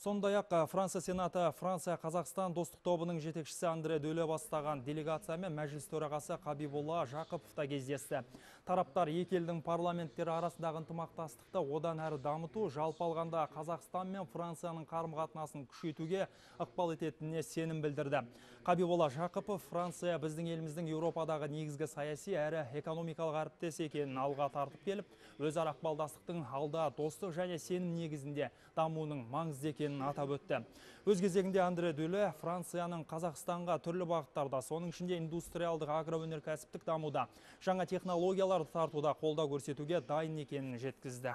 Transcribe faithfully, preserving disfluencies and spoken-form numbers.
Сондай-ақ Франция Сенаты Франция Қазақстан достық тобының жетекшісі Андре Дөле бастаған делегациямен мәжіліс төрағасы Қабиболла Жақыпов та кездесті. Тараптар екі елдің парламенттері арасындағы ынтымақтастықты одан әрі дамыту, жалпы алғанда Қазақстан мен Францияның қарым-қатынасын күшейтуге ықпал ететініне сенім білдірді. Қабиболла Жақыпов Франция біздің еліміздің Еуропадағы негізгі саяси әрі экономикалық әріптес екенін алға тартып келіп, өзара ықпалдастықтың алда достық және сенім негізінде дамуының маңызды екенін атап өтті. Өз кезегінде Андре Дөле Францияның Қазақстанға түрлі бағыттарда, соның ішінде индустриалдық агроөнеркәсіптік дамуда, жаңа технологияларды тартуда қолдау көрсетуге дайын екенін жеткізді.